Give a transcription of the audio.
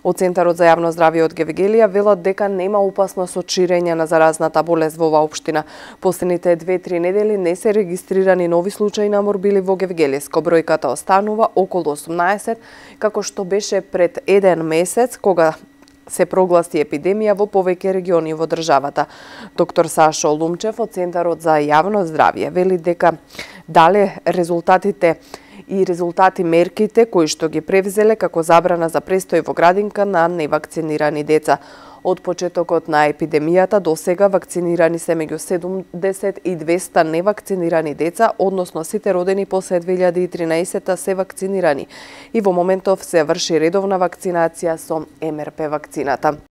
Од Центарот за јавно здравје од Гевгелија велат дека нема опасност од ширење на заразната болест во оваа општина. Последните 2-3 недели не се регистрирани нови случаи на морбили во Гевгелиско. Бројката останува околу 18, како што беше пред 1 месец, кога се прогласи епидемија во повеќе региони во државата. Доктор Сашо Лумчев од Центарот за јавно здравје вели дека дале резултати мерките кои што ги превзеле како забрана за престој во градинка на невакцинирани деца. Од почетокот на епидемијата до сега вакцинирани се меѓу 70 и 200 невакцинирани деца, односно сите родени после 2013 се вакцинирани и во моментов се врши редовна вакцинација со МРП вакцината.